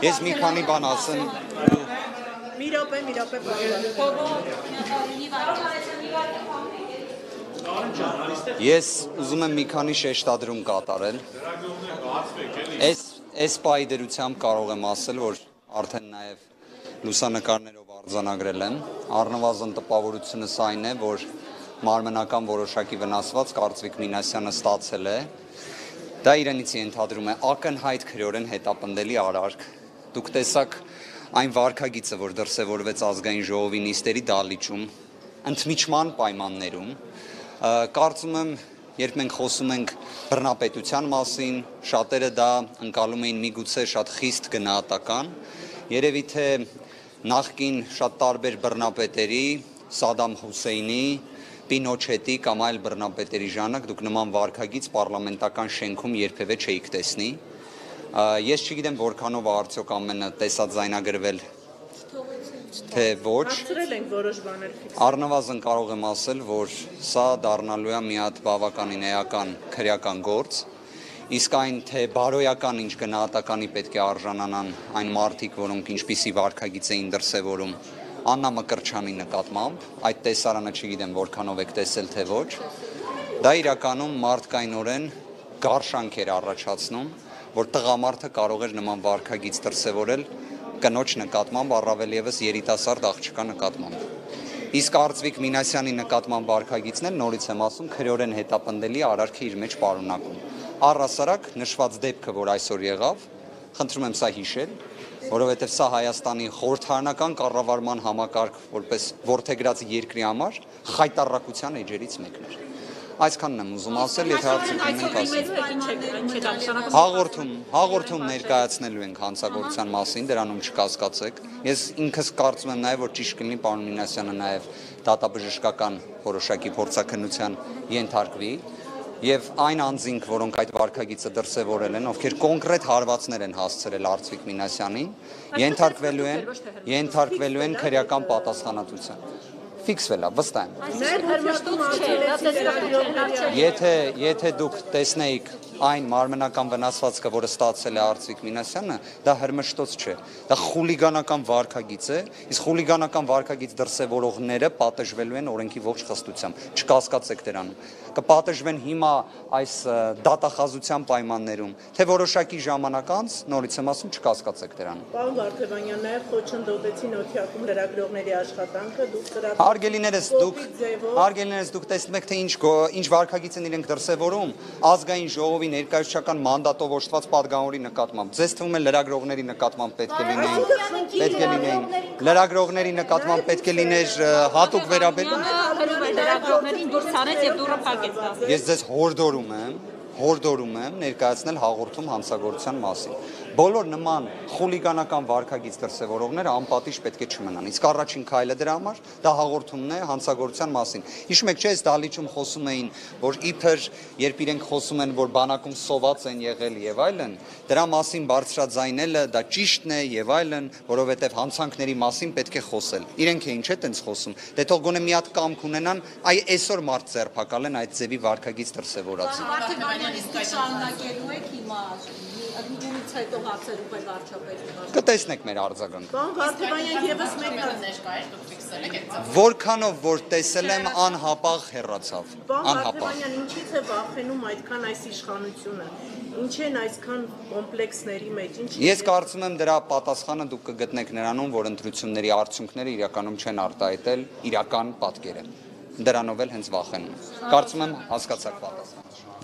Ես մի քանի բան ասեմ։ Մի րոպե։ Ես ուզում եմ մի քանի շեշտադրում կատարել։ Այս պահի դրությամբ կարող եմ ասել, որ արդեն նաև լուսանկարներով արձանագրել եմ։ Առնվազն տպավորությունս այն է, որ մարմնական որոշակի վնասված Կարծվիկ Մինասյանը ստացել է։ Դա իրենից ենթադրում է ակնհայտ քրեորեն հետապնդելի արարք։ Դուք տեսաք այն վարքագիծը, որ դրսևորվեց ազգային ժողովի նիստերի դահլիճում, ընդմիջման պայմաններում, կարծում եմ, երբ մենք խոսում ենք բռնապետության մասին, շատերը դա ընկալում էին միգուցե շատ խիստ գնահատական, երևի թե նախկին շատ տարբեր բռնապետերի, Սադամ Հուսեյնի, Պինոչետի կամ այլ բռնապետերի ժամանակ դուք նման վարքագիծ պարլամենտական շենքում երբևէ չէիք տեսնի։ Ես չգիտեմ որքանով արդյոք ամենը տեսած զայնագրվել թե ոչ։ Առնվազն կարող եմ ասել, որ սա դառնալու է մի հատ բավականին էական քրեական գործ, իսկ այն թե բարոյական ինչ գնահատականի պետք է արժանանան այն մարդիկ, որոնք ինչպիսի վարքագիծ էին դրսևորում Աննա Մկրտչյանի նկատմամբ, այդ տեսարանը չգիտեմ որքանով եք տեսել թե ոչ, դա իրականում մարդկայնորեն գարշանք էր առաջացնում, որ տղամարդը կարող էր նման վարքագիծ դրսևորել կնոջ նկատմամբ, առավել ևս երիտասարդ աղջկա նկատմամբ։ Իսկ Կարծվիկ Մինասյանի նկատմամբ վարքագիծն էլ նորից եմ ասում, քրեորեն հետապնդելի արարք է իր մեջ պարունակում։ Առհասարակ նշված դեպքը, որ այսօր եղավ, խնդրում եմ սա հիշել, որովհետև սա Հայաստանի խորհրդարանական կառավարման համակարգ որպես որդեգրած երկրի համար խայտառակության էջերից մեկն էր։ Այսքանն եմ ուզում ասել, եթե հարցեր ունենք ասել։ Հաղորդում ներկայացնելու ենք հանցագործության մասին, դրանում չկասկածեք։ Ես ինքս կարծում եմ նաև, որ ճիշտ կլինի պարոն Մինասյանը նաև դատաբժշկական որոշակի փորձաքննության ենթարկվի, եւ այն անձինք, որոնք այդ վարքագիծը դրսևորել են, ովքեր կոնկրետ հարվածներ են հասցրել Արծվիկ Մինասյանին, ենթարկվելու են քրեական պատասխանատվության։ Ֆիքսվել է, վստահ եմ։ Եթե դուք տեսնեիք այն մարմնական վնասվածքը, որը ստացել է Արծվիկ Մինասյանը, դա հրմշտոց չէ, դա խուլիգանական վարքագիծ է, իսկ խուլիգանական վարքագիծ դրսևորողները պատժվելու են օրենքի ողջ խստությամբ, չկասկածեք դրանում, կպատժվեն հիմա այս դատախազության պայմաններում, թե որոշակի ժամանակ անց, նորից եմ ասում, չկասկածեք դրանում։ Պարոն Վարդևանյան, նաև խոչընդոտեցին Օթյակում լրագրողների աշխատանքը, Հարգելիներս դուք տեսնում եք, թե ինչ վարքագիծ են իրենք դրսևորում ազգային ժողովի ներկայացուցչական մանդատով օժտված պատգամավորի նկատմամբ։ Ձեզ թվում է լրագրողների նկատմամբ պետք է լինեին, լրագրողների նկատմամբ պետք է լիներ հատուկ վերաբերում։ Ես ձեզ հորդորում եմ ներկայացնել հաղորդում հանցագործության մասին։ Բոլոր նման խուլիգանական վարքագիծ դրսևորողները անպատիժ պետք է չմնան։ Իսկ առաջին քայլը դրա համար դա հաղորդումն է հանցագործության մասին։ Հիշում եք, չէ՞, այս դահլիճում խոսում էին, որ իբր երբ իրենք խոսում են, որ բանակում սոված են եղել եւ այլն, դրա մասին բարձրաձայնելը դա ճիշտն է եւ այլն, որովհետեւ հանցանքների մասին պետք է խոսել։ Իրենք էին չէ՞ տենց խոսում։ Դե թող գոնե մի հատ կամք ունենան, այ այսօր մարդ ձերբակալեն այդ ձևի վարքագիծ դրսևորած։ Կտեսնեք մեր արձագանքը։ Որքանով որ տեսել եմ անհապաղ հեռացավ։ Ինչից է վախենում այդքան այս իշխանությունը։ Ինչ են այսքան կոմպլեքսների մեջ։ Ես կարծում եմ դրա պատասխանը դուք կգտնեք նրանում, որ ընտրությունների արդյունքները իրականում չեն արտահայտել իրական պատկերը։ Դրանով էլ հենց վախենում։ Կարծում եմ հասկացաք պատասխանը։